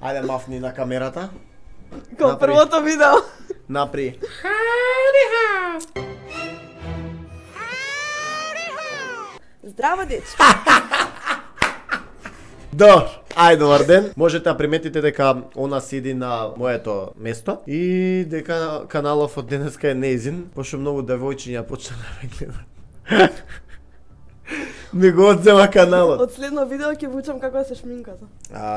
Ајде мафни на камерата. Као првото видео. Напри. Здраво, дечки. Добро, ајде добар ден. Можете да приметите дека она седи на моето место и дека каналов од денеска е неизин, пошто многу девојчиња почна да ме гледат. Ми го одзема каналот. Од следно видео ќе вучам како да се шминката.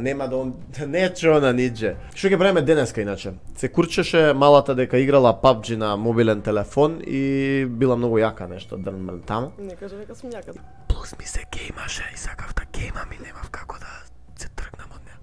Нема да он не чона нидже. Што ќе правиме денеска иначе? Се курчеше малата дека играла PUBG на мобилен телефон и била многу јака нешто дрнмрн таму. Не кажа дека сум јака. Плюс ми се геймаше и сакав да геймам и немав како да се тргнам од неа.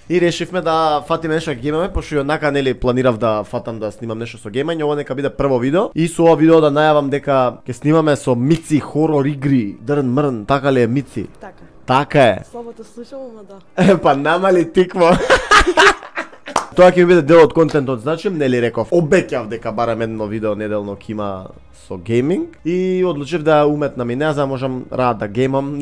И решивме да фатиме нешто да геймаме, пошто и однака нели планирав да фатам да снимам нешто со геймање, ова нека биде прво видео. И со ова видео да најавам дека ќе снимаме со Мици хорор игри, дрн мрн, така ли е Мици? Така. Така е. Слабо те слушам, ама да. Па нама ли тикво? Тоа ќе ми биде дел од контентот, значи, нели реков, обеќав дека барем едно видео неделно ќе има со гейминг и одлучив да уметнам и не за можам рад да геймам.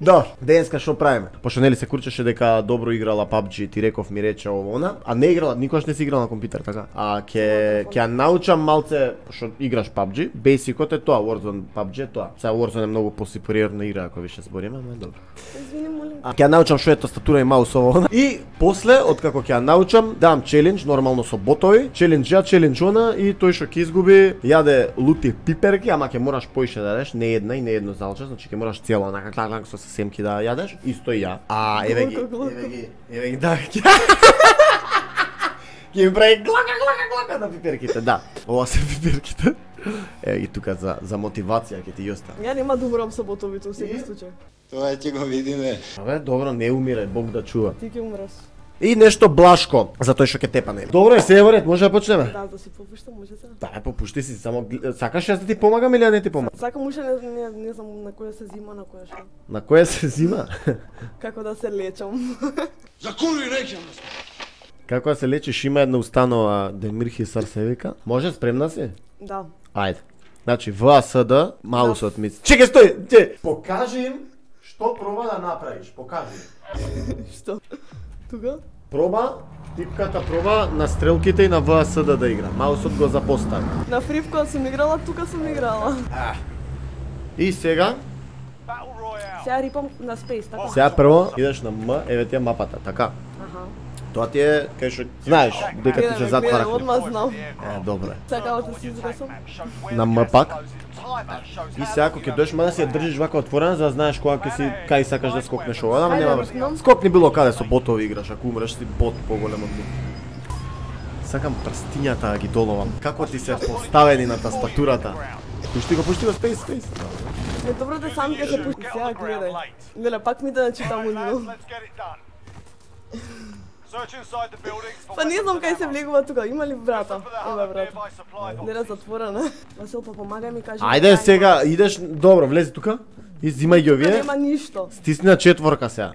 Да, денеска што правиме? Пошто нели се курчеше дека добро играла PUBG, ти реков ми рече ово она, а не играла, никогаш не си играла на компјутер, така? А ќе научам малце, пошто играш PUBG, бейсикот е тоа, Warzone PUBG е тоа. Сега Warzone е многу посупериорна игра ако више збориме, ама е добро. Извини, молим. А ќе научам што е тастатура и маус ово. И после, откако ќе научам, дам челендж нормално со ботови, челендж ја, челендж она и тој што ќе изгуби јаде лути пиперки, ама ќе мораш поише да јадеш, не една и не едно залче, значи ќе мораш цела онака клак со семки да јадеш, исто и ја. А еве ги, да. Ќе ми прави глака на пиперките, да. Ова се пиперките. Еве ги тука за мотивација ќе ти ја оставам. Ја нема да умрам со ботовите во секој случај. Тоа ќе го видиме. Абе, добро, не умире, Бог да чува. Ти ќе умреш. И нешто блашко, за тој што ќе тепа нели. Добро е, се е во ред, може да почнеме? Да си попуштам, може се. Да, попушти си, само сакаш јас да ти помагам или не ти помагам? Сакам уште не знам на која се зима, на која што. На која се зима? Како да се лечам. За кури рекам. Како да се лечиш, има една установа Демирхи Сарсевика. Може, спремна си? Да. Ајде. Значи, ВАСД, маусот ми. Чекај, стој! Покажи им што проба да направиш, покажи им. Што? Тука? Проба, типката проба на стрелките и на ВАСД да игра. Маусот го запостави. На Free кога сум играла, тука сум играла. И сега? Сега рипам на Space, така? Сега прво идеш на М, еве ти е мапата, така. Аха. Тоа ти е, кај што знаеш, дека ти се затвара. Одма знам. Добре. Сега да се изресам. На М пак. И сега ако ќе доеш, мада си ја држиш вака отворена, за да знаеш кога ќе си кај сакаш да скокнеш ова, ама нема врска. Скокни било каде со ботови играш, ако умреш си бот поголем од ми. Сакам прстињата да ги доловам. Како ти се поставени на тастатурата? Пушти го, Space. Е, добро да сам ќе се пушти, сега гледај. Леле, пак ми да читам унино. Па не знам кај се влегува тука, има ли врата? Има врата. Не е затворена. Васил, па помагај ми, кажи. Ајде сега, идеш, добро, влези тука. И зимај ги овие. Нема ништо. Стисни на четворка сега.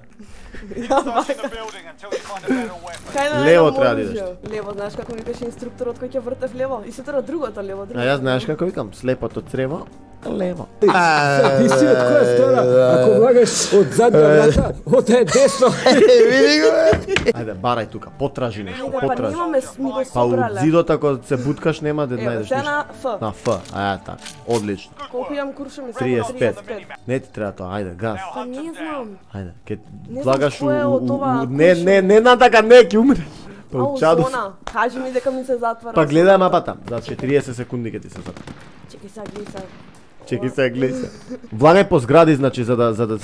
Лево треба да идеш. Лево, знаеш како ми беше инструкторот кој ќе вртев лево? И сутра другото лево, другото. А јас знаеш како викам, слепото црево, лево. Ти си од која страна? Ако влагаш од задна врата, ода е десно. Види го бе. Ајде, барај тука, потражи нешто, Па потражи. немаме ми го Па од собрале. зидот ако се буткаш нема да Ево, најдеш сега ништо. на Ф. На Ф, така, одлично. Колку имам куршуми? 35. Не ти треба тоа, ајде, газ. Па не знам. Ајде, ке Не знам влагаш кој е од ова не на така, не, ќе умреш. Па Ау, учаду. зона. Кажи ми дека ми се затвара. Па гледај мапата, за 40 секунди ќе ти се затвора. Чекај сега, гледај сега. Чекај се, гледај се. Влагај по згради, значи, за да...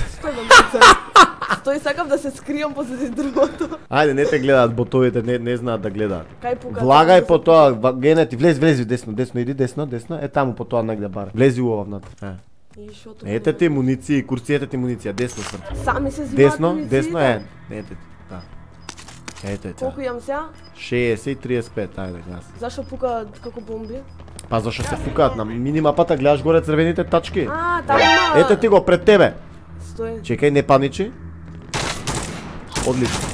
Стои сакав да се скријам позади другото. Ајде, не те гледаат ботовите, не знаат да гледаат. Кај пука? Влагај по тоа, генети, влези десно, иди десно, е таму по тоа негде бар. Влези уова внатре. И шото? Ете ти муниции, курцијете ти муниција, десно срце. Сами се зимаат Десно е. Ете, да. Ете. Колку имам сега? 60 и 35, ајде газ. Зашо пука како бомби? Па зашо се пукаат на минимапата, гледаш горе црвените тачки. Таму. Ете ти го пред тебе. Стои. Чекај, не паничи. Одлично.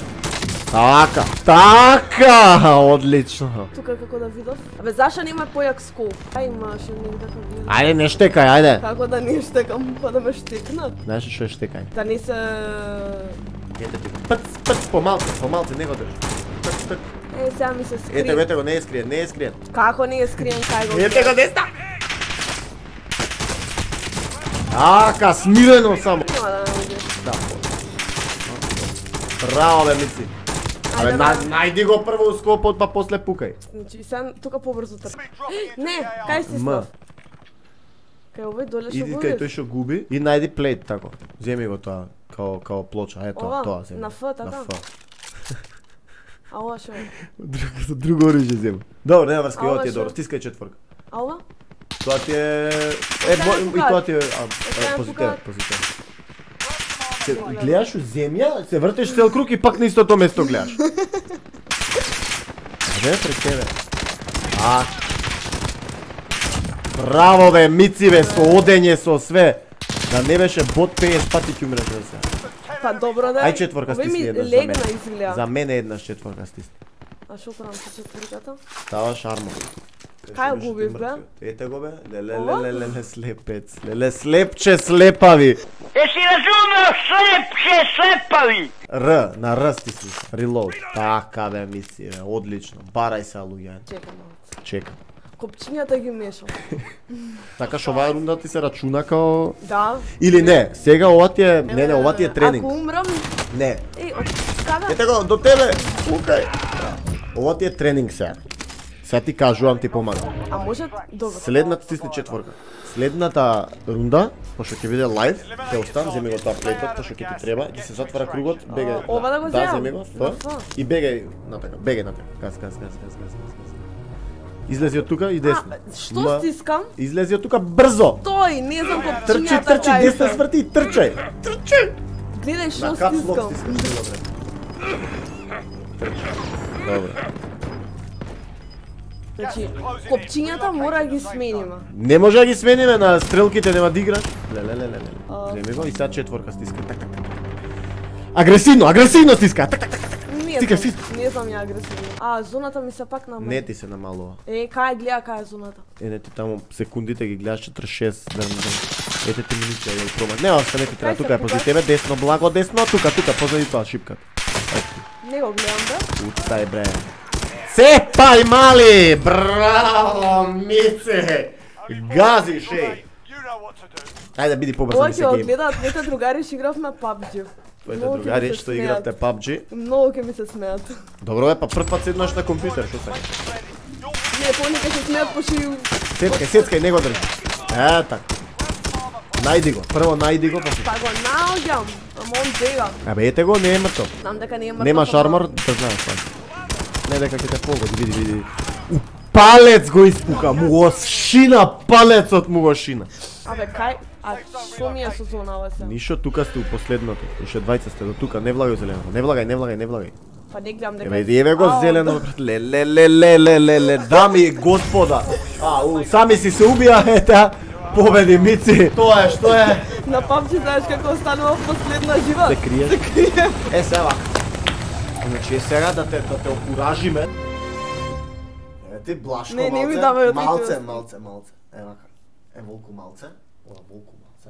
Така, одлично. Тука како да видов. Абе зашто нема појак скоп? Имаше негде како гледам. Ајде, не штекај, ајде. Како да не штекам, па да ме штекнат? Знаеш што е штекај? Да не се... Ете ти. Пц, помалце, не го држ. Пц. Сега ми се скрие. Ете го, не е скриен. Како не е скриен, кај го? Ете го, деста! Така, смирено само. Нема да ме убиеш. Да. Браво, бе, Мици. Абе, најди го прво скопот, па после пукај. Значи, сега тука побрзо трчи. Не, кај си став? Кај овој доле што Иди го кај видиш? тој што губи и најди плейт тако. Земи го тоа, као плоча, ето, Ова? тоа земи. На Ф, така? На Ф. А ова што е? Друго оружје земи. Добро, нема врска, А ова ова ти е шо? добро, стискај четворка. А ова? Тоа ти е... Сега и пукаат. тоа ти е... Сега позитивен, пукаат. позитивен. Се гледаш у земја, се вртеш цел круг и пак на истото место гледаш. Аде, пред тебе. Браво бе, Мици бе, со одење, со све. Да не беше бот 50 пати ќе умреш бе сега. Па добро да. Ај четворка Овој стисни ми еднаш за легна мене. изгледа. За мене еднаш четворка стисни. А шо правам со четворката? Ставаш армор. Кај губив бе? Ете го бе. Леле слепец. Леле слепче слепави. Еси разумел, слепче слепави! Р, на Р стисни. Reload. Така бе, Мици бе, одлично. Барај се луѓе. Чекам малце. Чекам. Копчињата ги мешам. Така што оваа рунда ти се рачуна као... Да. Или не, сега ова ти е... Не, ова ти е тренинг. Ако умрам, Не. од када? Ете го, до тебе! Пукај! Ова ти е тренинг сега. Сега ти кажувам, ти помагам. А може добро. Следната стисни четворка. Следната рунда, пошто ќе биде лайв, ќе остан, земи го тоа плейтот, пошто ќе ти треба, ќе се затвара кругот, бегај. Ова да го Да, земам? земи го, На тоа. Ф. И бегај натака, бегај натака. Газ. Излези од тука и десно. Што стискам? Излези од тука брзо! Тој, не знам копчињата. Трчи, кај десно се. сврти, трчај! Трчај! Гледај што На кап слог стискам. стискаш, добре. Добре. Значи, копчињата мора да ги смениме. Не може да ги смениме на стрелките, нема да играш. Леле. Земи го и сега четворка стиска. Так. Агресивно стиска. Так. Стикай, Не знам ја агресивно. А, зоната ми се пак намали. Не ти се намалува. Кај гледа кај е зоната? Не ти таму секундите ги гледаш 46 ден. Ете ти минути ја пробаш. Не, остане ти треба, тука е пози тебе, десно, благо, десно, тука, позади тоа шипката. Не го гледам бе. Уцај бре. Сепај мали! Браво, Мице! Гази шеј! Ајде биди побрзо Ова ми се ќе го гейм. гледаат моите другари што игравме PUBG. Твоите Многу ќе ми другари се што смеат. игравте PUBG. Многу ќе ми се смеат. Добро е, па прв пат седнаш на компјутер, што сакаш? Не, понекогаш се смеат пошто Сецкај, не го држи. Така. Најди го, прво најди го, па па го наоѓам. Ама он бега. Абе ете го, не е мртов. Знам дека не е мртов. Немаш ама- армор, да знаеш тоа. Не дека ќе те погоди, види. У палец го испука, му го шина палецот, му го шина. Абе кај? А што ми е со зонава се? Ништо, тука сте у последното. Уште двајца сте до тука, не влагај зелено. Не влагај. Па не гледам дека... Еве го Ау, зелено, брат. Леле, дами и господа. Сами си се убија, ета. Победи Мици. Тоа е, што е? На PUBG знаеш како останува последна жива? Се криеш? Е, сега. Значи, сега да те окуражиме. Еве ти блашко Не, малце. не ми давај од Малце. Ева, волку малце. Ова волку малце.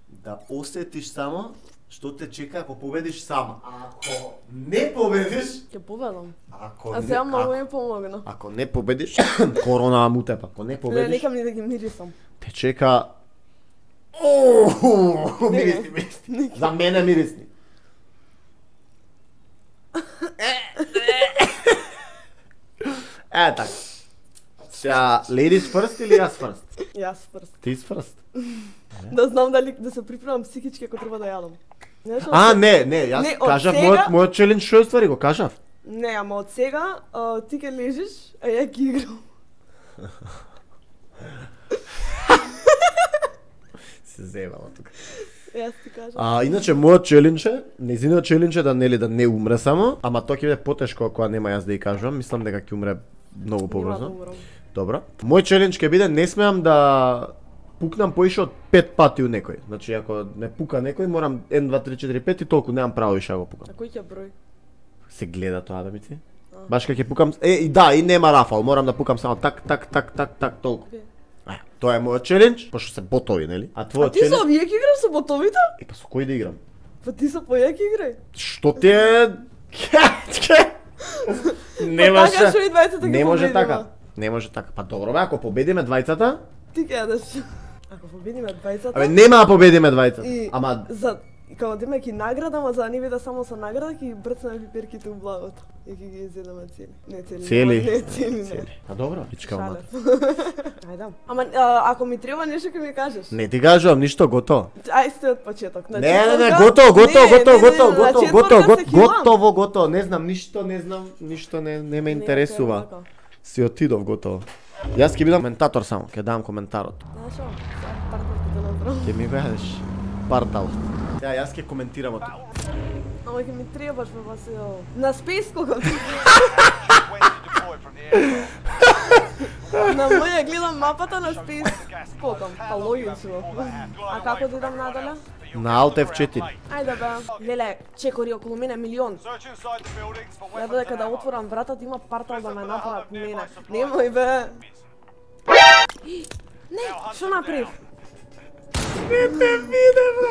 Да осетиш само што те чека ако победиш сама. Ако не победиш, Ќе победам. ако А не, сега многу ми помогна. ако не победиш, корона му тепа. Ако не Не, победиш, нека ми да ги мирисам. те чека мирисни. За мене мирисни. Така. Сега, ladies first или јас first? Јас прст. Ти first. Да знам дали да се припремам психички ако треба да јадам. Знаеш, Не, јас Не, од кажав сега- мојот челендж што е ствари, го кажав. Не, ама од сега ти ќе лежиш, а ја ќе играм. Се зевала тука. Јас ти кажам. Иначе мојот челендж е, незиниот челендж е да не умре само, ама тоа ќе биде потешко ако нема јас да ја кажувам, мислам дека ќе умре многу Нема да побрзо. умрам. Добро. Мој челендж ќе биде не смеам да пукнам поише од 5 пати у некој. Значи ако не пука некој, морам 1 2 3 4 5 и толку, немам право више да го пукам. А кој ќе број? Се гледа тоа бе мици. Баш кога ќе пукам, и да, и нема рафал, морам да пукам само так толку. Тоа е мојот челендж, пошто се ботови, нели? А твојот челендж? Ти со овие ќе играш со ботовите? Па со кој да играм? Па ти со појаки играј. Што ти е? Не може така. Не може така. Па добро бе, ако победиме двајцата, ти ќе јадеш. Ако победиме двајцата. Абе нема да победиме двајцата. Ама за како да има ќе награда, ама за да не биде само со награда, ќе брцнеме пиперките у благото. И ќе ги изедеме цели. Не цели. Не цели. А добро, пичка мат. Ајде. Ама ако ми треба нешто ќе ми кажеш. Не ти кажувам ништо, готово. Ај сте од почеток. Не, готово. Не знам ништо, не ме интересува. Си отидов готово. Јас ќе бидам коментатор само, ќе дам коментарот. Знаеш што? Парталките направо. Ќе ми кажеш партал. Сега јас ќе коментирам тоа. Ама ќе ми требаш бе Васил. На спейс кога. На моја гледам мапата на спейс. Потом, па логично. А како да идам надале? На Alt F4. Ајде бе. Леле, чекори околу мене милион. Ја додека да отворам вратата има партал да ме нападат мене. Немој бе. Не, што направив? Не те виде бе.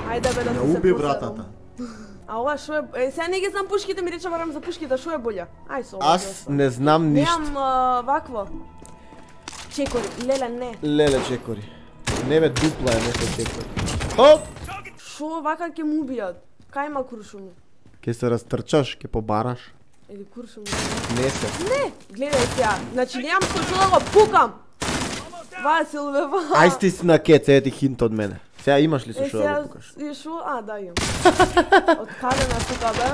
Ајде бе да се уби вратата. А ова шо е? Сега не ги знам пушките, ми рече барам за пушките, шо е болја? Ај со ова. Аз не знам ништо. Немам вакво. Чекори, леле не. Леле чекори. Не бе дупла е нешто чекори. Хоп! Шо вака ќе му убијат? Кај има куршуми? Ке се растрчаш, ке побараш. Еди куршуми. Не се. Не, гледај сега. Значи немам со што да го пукам. Васил бе, Ај сти си на кец, ети хинт од мене. Сега имаш ли со што да го пукаш? И шо? А, да имам. Од каде на тука бе?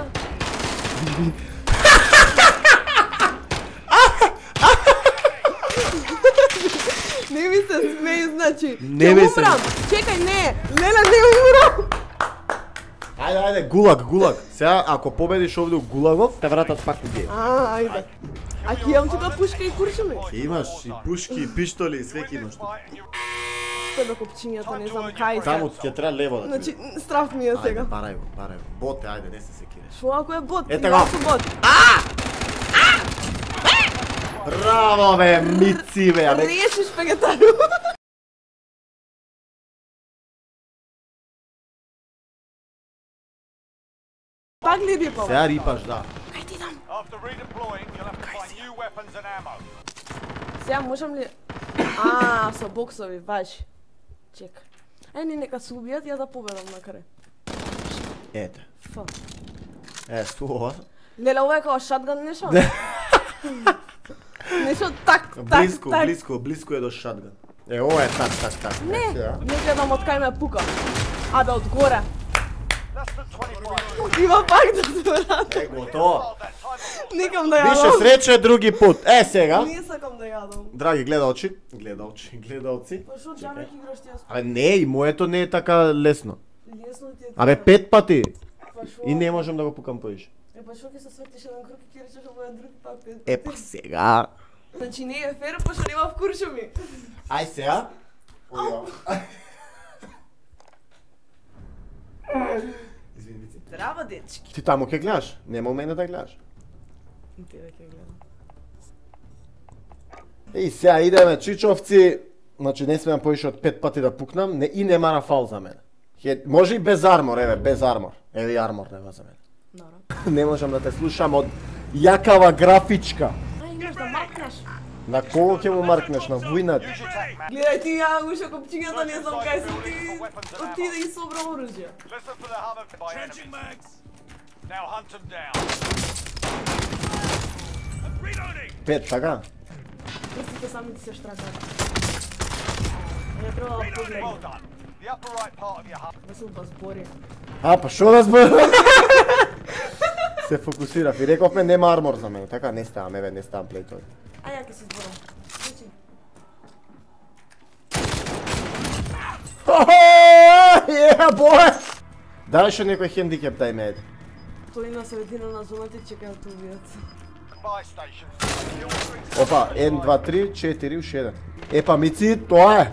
Не ми се смеј, значи. Не ми се. Умрам. Чекај, не. Леле, не умрам. Ајде, гулаг. Сега ако победиш овде у гулагов, те вратат пак у геј. Ајде. А ќе имам тука пушка и куршуми? Имаш и пушки, и пиштоли, и свеки имаш тука. Спе копчињата, не знам кај се. Таму ќе треба лево да. Значи, страф ми е сега. Ајде, барај го. Боте, ајде, не се секире. Шо ако е бот? Ете го. Браво бе, мици бе. Решиш вегетару. Пак ли рипам? Сега рипаш, да. Кај ти дам? Сега можам ли... со боксови, важи. Чека. Не, нека се убијат, ја да победам на крај. Ете. Фа. Ова. Леле, ова е као шатган нешто? Нешто так. Близко е до шатган. Ова е так. Не гледам од кај ме пука. Абе, од горе. Има пак да се врати. Готово. Никам да јадам. Више среќа други пут. Сега. Не сакам да јадам. Драги гледалци. Па шо џабе ќе играш ти јас? Абе не, и моето не е така лесно. Лесно ти е. Абе 5 пати. Па шо? И не можам да го пукам поише. Па шо ќе се светиш еден круг и ќе речеш ова е други пак. Па сега. Значи не е фер, па шо нема вкуршуми. Ај сега. Извини. Здраво, дечки. Ти таму ќе гледаш? Нема у мене да гледаш. Ти да ќе гледам. И сега идеме чичовци. Значи не смеам поише од 5 пати да пукнам, и нема рафал за мене. Може и без армор, без армор. Еве и армор нема за мене. Не можам да те слушам од јакава графичка. Имаш да маркнеш. На кого ќе му маркнеш? На војнат? Гледај ти ја ушо копчињата, не знам кај се ти. Отиде и собра оружје. Пет, така? Прстите сами ти се штракат. Не треба да погледам. Васил па збори. Па шо да збори? Се фокусирав и рековме нема армор за мене, така не ставам, не ставам плейтови. А ја ќе се зборам. Бое! Дај шо некој хендикеп дај ме, Тој на средина на зоната чека да те убијат. Опа, 1, 2, 3, 4, уште еден. Епа, мици, тоа е!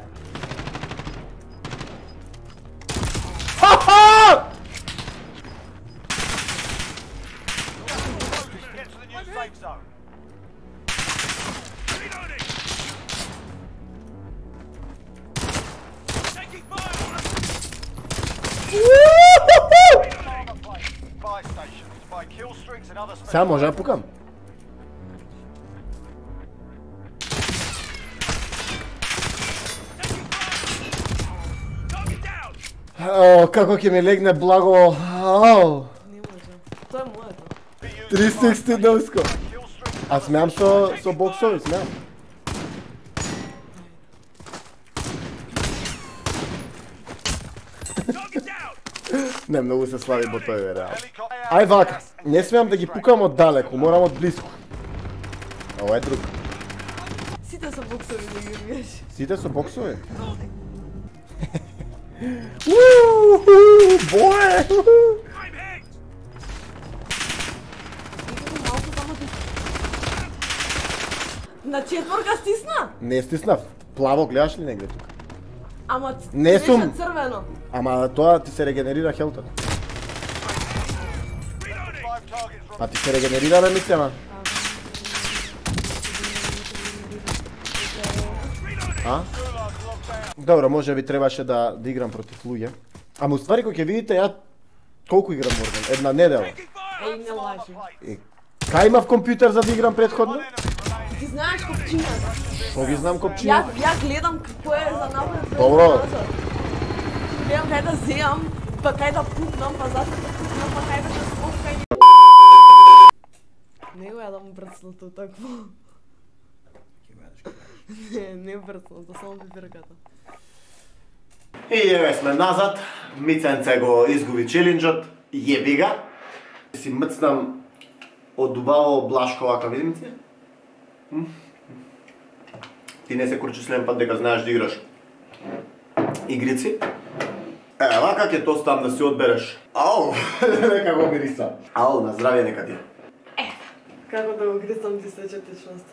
Сега може да пукам. Како ќе ми легне благо. Не може. Тоа е моето. 360 доско. А смеам со боксови, смеам. Не, многу се слаби ботови, реално. Ај вака, не смеам да ги пукам од далеку, морам од близко. Ова е друг. Сите со боксови да ги играш. Сите со боксови? Бое! На четворка стисна? Не стиснав. Плаво гледаш ли негде тука? Ама Не беше сум. црвено. Ама тоа ти се регенерира хелтот. А ти се регенерира мислима? А? Добро, може би требаше да играм против луѓе. Ама уствари кој ќе видите ја колку играм Warzone? Една недела. Еј, не лажи. Кај имав компјутер за да играм претходно? Ти знаеш копчињата. Што ги знам копчињата? Ја гледам какво е за напред. Добро. Гледам кај да земам, па кај да пукнам, па зашто да пукнам, па кај да се спускам. Не го јадам брцното такво. Не брцното, само пиперката. И еве сме назад. Миценце го изгуби челенџот. Јеби га. Си мцнам од убаво блашко вака, видим ти? Ти не се курчислен пат дека знаеш да играш игрици. Вака ќе то стам да си одбереш. Ау, нека го мириса. Ау, на здравје нека ти. Како да го грисам ти стече течност?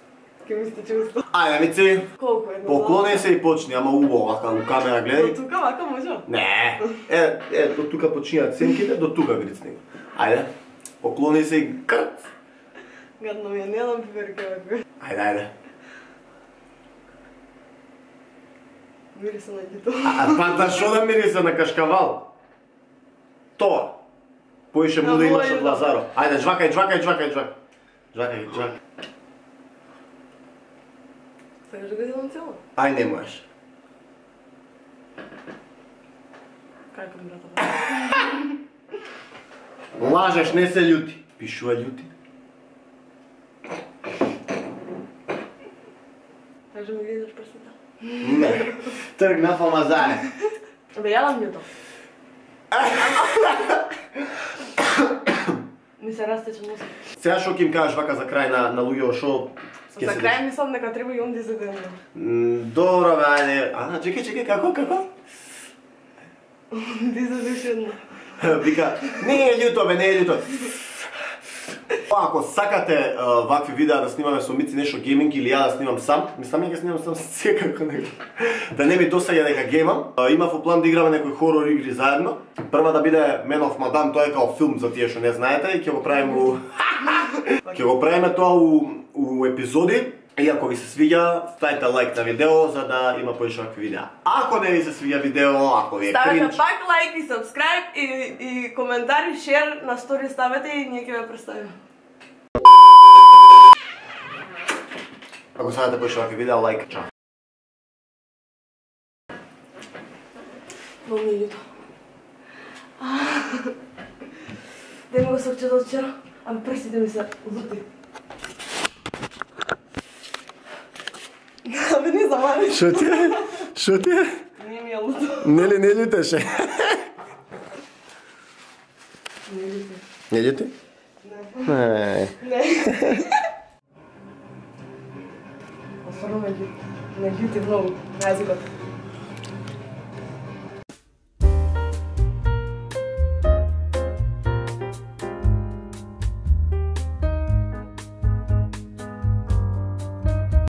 Ке ми стече уста. Ајде, мици. Колку е? Поклони се и почни, ама убаво вака у камера гледај. До тука вака може? Не. До тука почињаат сенките, до тука грицни. Ајде. Поклони се и крт. Гадно ми е, не јадам пиперка вака. Ајде. Мириса на гито. Па да шо да мириса на кашкавал? Тоа. Поише му да имаш од Лазаро. Ајде, жвакај. Сакаш да го делам цело? Ај, не можеш. Како брата? Лажеш, не се љути. Пишува љути. Кажи ми гледаш прсата. Не. Тргна по мазане. Бе, јадам љуто. Ми се растече носот. Сега шо ќе им кажеш вака за крај на луѓето шо За крај мислам дека треба и он да се денува. Добро, бе, ајде. Чекај, како? Дизадушено. Вика, не е љуто. Ако сакате вакви видеа да снимаме со Мици нешто гейминг или ја да снимам сам, мислам ќе снимам сам секако него. Да не ми досаѓа дека геймам. Имав во план да играме некои хорор игри заедно. Прва да биде Man of Madame, тоа е као филм за тие што не знаете и ќе го правиме тоа у епизоди. И ако ви се свиѓа, ставите лайк на видео за да има поише вакви видеа. Ако не ви се свиѓа видео, ако ви е кринч, ставете пак лайк и сабскрајб и коментари, шер на стори ставете и ние ќе ве представиме. Ако сакате поише вакви видеа, лайк, чао. Много ми е љуто. Дај ми го сокчето од вчера, ама прстите ми се лути. Абе, не замари. Шо ти е? Не ми е луто. Нели не љутеше? Не љути. Не љути? Не. Не. Остварно ме љути. Не љути многу. На јазикот.